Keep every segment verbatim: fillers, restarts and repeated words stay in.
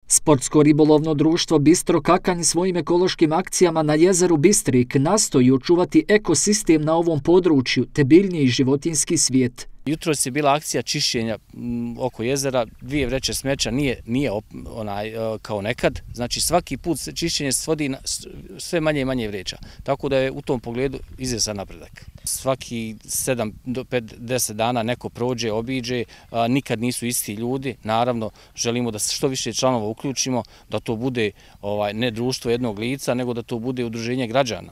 Sportsko ribolovno društvo Bistro Kakanj svojim ekološkim akcijama na jezeru Bistrik nastoji očuvati ekosistem na ovom području te biljni i životinjski svijet. Jutros je bila akcija čišćenja oko jezera, dvije vreće smeća, nije, nije onaj, kao nekad. Znači svaki put čišćenje se svodi na sve manje i manje vreća. Tako da je u tom pogledu izvjestan napredak. Svaki sedam do deset dana neko prođe, obiđe, nikad nisu isti ljudi. Naravno, želimo da što više članova uključimo, da to bude ovaj, ne društvo jednog lica, nego da to bude udruženje građana.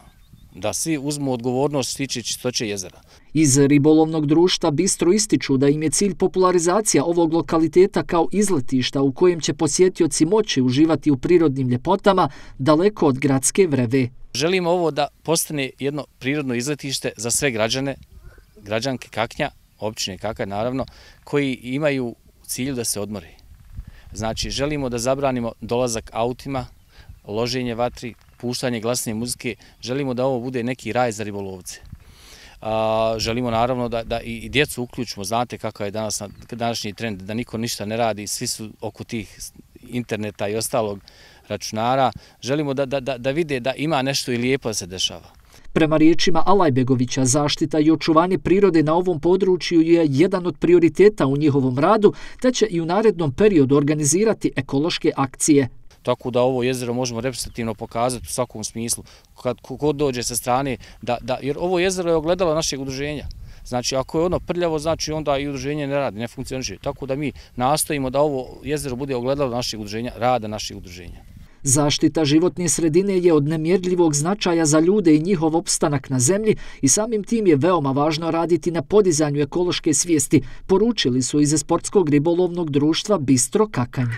Da svi uzmu odgovornost što se tiče čistoće jezera. Iz ribolovnog društva Bistro ističu da im je cilj popularizacija ovog lokaliteta kao izletišta u kojem će posjetioci moći uživati u prirodnim ljepotama daleko od gradske vreve. Želimo ovo da postane jedno prirodno izletište za sve građane, građanke Kaknja, općine Kakanj naravno, koji imaju u cilju da se odmore. Znači želimo da zabranimo dolazak autima, loženje vatri, puštanje glasne muzike, želimo da ovo bude neki raj za ribolovce. A, želimo naravno da, da i djecu uključimo, znate kakav je danas, današnji trend, da niko ništa ne radi, svi su oko tih interneta i ostalog računara, želimo da, da, da vide da ima nešto i lijepo da se dešava. Prema riječima Alajbegovića, zaštita i očuvanje prirode na ovom području je jedan od prioriteta u njihovom radu, te će i u narednom periodu organizirati ekološke akcije. Tako da ovo jezero možemo reprezentativno pokazati u svakom smislu, kad kod dođe sa strane, da, da, jer ovo jezero je ogledalo našeg udruženja. Znači, ako je ono prljavo, znači onda i udruženje ne radi, ne funkcioniše. Tako da mi nastojimo da ovo jezero bude ogledalo našeg udruženja, rada našeg udruženja. Zaštita životne sredine je od nemjerljivog značaja za ljude i njihov opstanak na zemlji i samim tim je veoma važno raditi na podizanju ekološke svijesti, poručili su iz Sportskog ribolovnog društva Bistro Kakanj.